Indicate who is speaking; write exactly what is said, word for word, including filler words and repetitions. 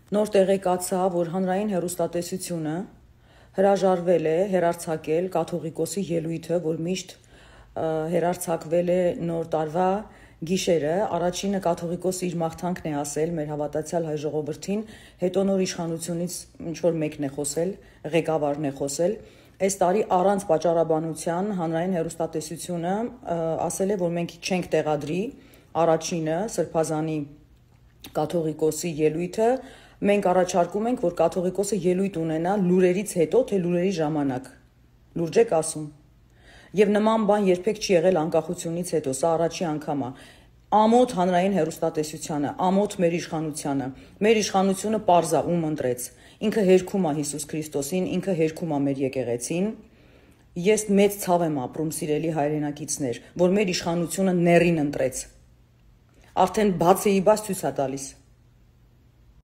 Speaker 1: Նոր տեղեկացա, որ հանրային հեռուստատեսությունը հրաժարվել է հեռարձակել կաթողիկոսի ելույթը, որ միշտ հեռարձակվել է նոր տարվա գիշերը, առաջինը կաթողիկոսը իր մաղթանքն է ասել մեր հավատացյալ հայ ժողովրդին, հետո նոր իշխանությունից ինչ-որ մեկն է խոսել, ղեկավարն է խոսել, այս տարի առանց պատճառաբանության հանրային հեռուստատեսությունը ասել է, որ մենք չենք տեղադրի առաջինը սրբազանի կաթողիկոսի ելույթը, մենք առաջարկում ենք, որ կաթողիկոսը ելույթ ունենա լուրերից հետո, թե լուրերի ժամանակ, լուրջ եք ասում, և նման բան երբեք չի եղել անկախությունից հետո, սա առաջի անգամ է, ամոթ հանրային հեռուստատեսությանը, ամոթ մեր իշխանությանը, մեր իշխանությունը պարզ է ում ընտրեց, ինքը հերքում է Հիսուս Քրիստոսին, ինքը հերքում է մեր եկեղեցին, ես մեծ ցավ եմ ապրում, սիրելի հայրենակիցներ, որ մեր իշխանությունը ներին ընտրեց, արդեն բաց էի բաց ցույց է տալիս,